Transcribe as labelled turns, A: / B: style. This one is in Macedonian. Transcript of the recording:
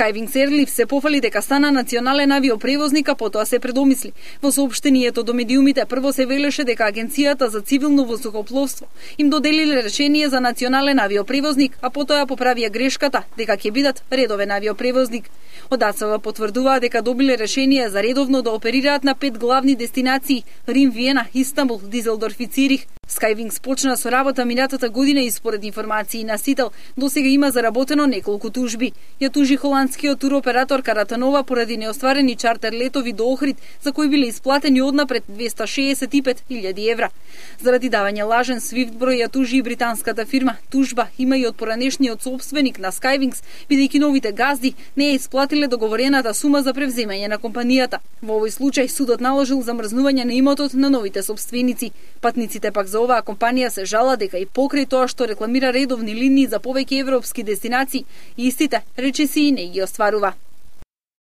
A: Skywings Airlifts се пофали дека стана национален авиопревозник, а потоа се предомисли. Во соопштението до медиумите прво се велеше дека Агенцијата за цивилно воздухопловство им доделиле решение за национален авиопревозник, а потоа поправија грешката дека ќе бидат редовен авиопревозник. Од АЦВ потврдуваа дека добиле решение за редовно да оперираат на 5 главни дестинации: Рим, Виена, Истанбул, Дизелдорф и Цирих. Skywings почна со работа минатата година и според информации на Сител, досега има заработено неколку тужби. Ја тужи холандскиот туроператор Каратанова поради неостварени чартер летови до Охрид, за кои биле исплатени однапред 265.000 евра. Заради давање лажен свифт број ја тужи и британската фирма. Тужба има и од поранешниот сопственик на Skywings, бидејќи новите газди не ја исплатиле договорената сума за превземање на компанијата. Во овој случај судот наложил замрзнување на имотот на новите сопственици. Патниците пак за оваа компанија се жала дека и покрај тоа што рекламира редовни линии за повеќе европски дестинации, истите речисии не ги остварува.